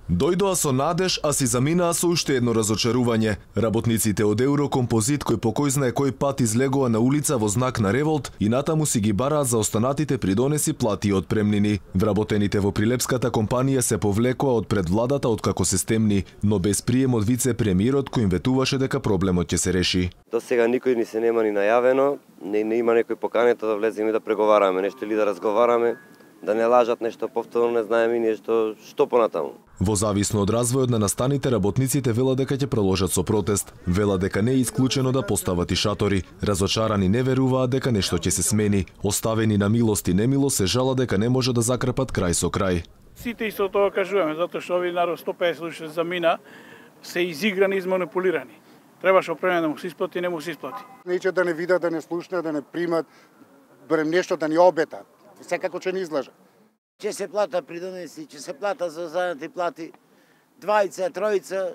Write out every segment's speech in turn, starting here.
Дојдоа со надеж, а си заминаа со уште едно разочарување. Работниците од Еврокомпозит кој по кој знае кој пат излегоа на улица во знак на револт и натаму си ги бараат за останатите придонеси, плати и отпремнини. Вработените во прилепската компанија се повлекоа од пред владата откако се стемни, но без прием од вице-премиерот кој им ветуваше дека проблемот ќе се реши. До сега никој ни се нема ни најавено, не има некој поканета да влеземе и да преговараме нешто или да разговараме, да не лажат нешто повторно, не знаеме ние што понатаму. Во зависно од развојот на настаните, работниците велат дека ќе продолжат со протест. Велат дека не е исклучено да постават и шатори. Разочарани не веруваат дека нешто ќе се смени. Оставени на милост и немилост се жала дека не може да закрпат крај со крај. Сите исто тоа кажуваме, затоа што овие народ 150 души замина, се изиграни и изманипулирани. Требаше опремен да му се исплати, не му се исплати. Нече да не видат, да не слушнат, да не примат, барем нешто да ни обетат. Секако ќе ни излажат. Ќе се плата придонеси, ќе се плата за останати плати, двајца, тројца,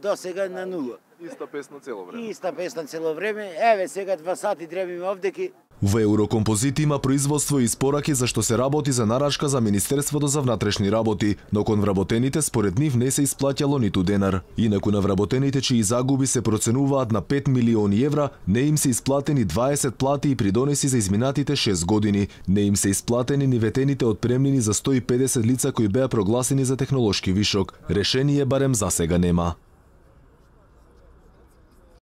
до сега на нула. Иста песна цело време. Иста песна цело време. Еве сега 2 сати дребиме овдеки. Во Еврокомпозит има производство и испораки за што се работи за нарачка за Министерството за внатрешни работи, но кон вработените според нив не се исплаќало ниту денар. Инаку на вработените чии загуби се проценуваат на 5 милиони евра, не им се исплатени 20 плати и придонеси за изминатите 6 години. Не им се исплатени ни ветените отпремнини за 150 лица кои беа прогласени за технолошки вишок. Решение барем засега нема.